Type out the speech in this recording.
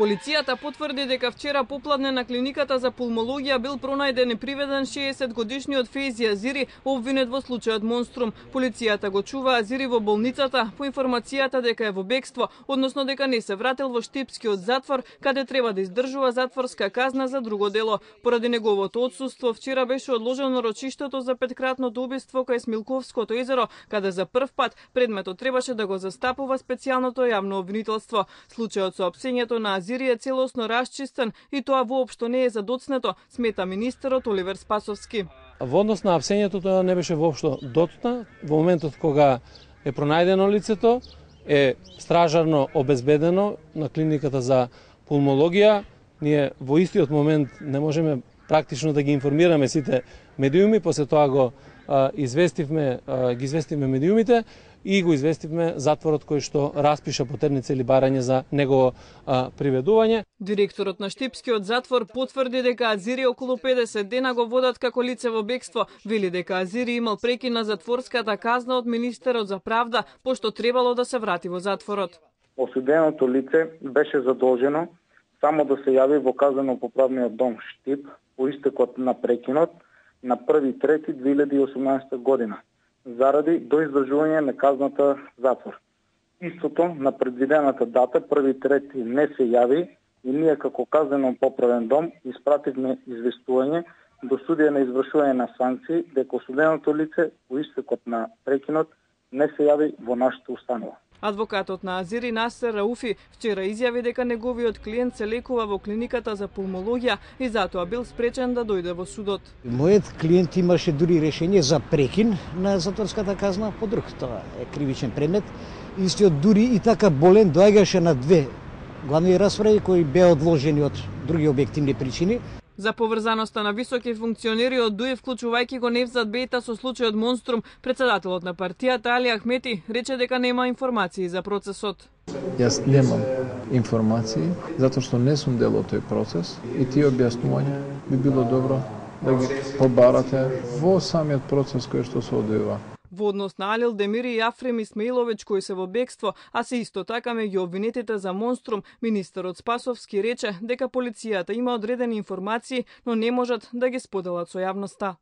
Полицијата потврди дека вчера попладне на клиниката за пулмологија бил пронајден и приведен 60-годишниот Фейзи Азири, обвинет во случајот Монструм. Полицијата го чува Азири во болницата по информацијата дека е во бегство, односно дека не се вратил во Штипскиот затвор, каде треба да издржува затворска казна за друго дело. Поради неговото отсуство, вчера беше одложено рочиштето за петкратното убиство кај Смилковското езеро, каде за прв пат предметот требаше да го застапува специјалното јавно обвинителство. Случајот со опсењето на Азири е целосно расчистен и тоа воопшто не е задоцнето, смета министерот Оливер Спасовски. Во однос на опсењето тоа не беше воопшто дотна. Во моментот кога е пронајдено лицето, е стражарно обезбедено на клиниката за пулмологија. Ние во истиот момент не можеме практично да ги информираме сите медиуми, после тоа ги известивме медиумите и го известивме затворот кој што распиша потерница или барање за негово приведување. Директорот на Штипскиот затвор потврди дека Азири околу 50 дена го водат како лице во бегство. Вели дека Азири имал прекина затворската казна од министерот за правда, пошто требало да се врати во затворот. Осуденото лице беше задолжено само да се јави во казнено-поправниот дом Штип по истекот на прекинот на 1.3.2018 година, заради доиздржување на казната затвор. Истото на предвидената дата 1.3 не се јави и ние како казнено-поправен дом испративме известување до судија на извршување на санкции дека осуденото лице по истекот на прекинот не се јави во нашата установа. Адвокатот на Азири Насер Рауфи вчера изјави дека неговиот клиент се лекува во клиниката за пулмологија и затоа бил спречен да дојде во судот. Мојот клиент имаше дури решение за прекин на затворската казна по друг, тоа е кривичен предмет. Истиот дури и така болен доаѓаше на две главни расправи кои беа одложени од други објективни причини. За поврзаноста на високи функционери од ДУИ, вклучувајќи го Невзат Бејта со случајот Монструм, председателот на партијата Али Ахмети рече дека нема информации за процесот. Јас немам информации, затоа што не сум дел од тој процес и тие објаснувања би било добро да ги побарате во самиот процес кој што се одвива. Во однос на Алил Демири и Афрем Исмаиловиќ кои се во бегство, а се исто така меѓу обвинетите за Монструм, министерот Спасовски рече дека полицијата има одредени информации, но не можат да ги споделат со јавноста.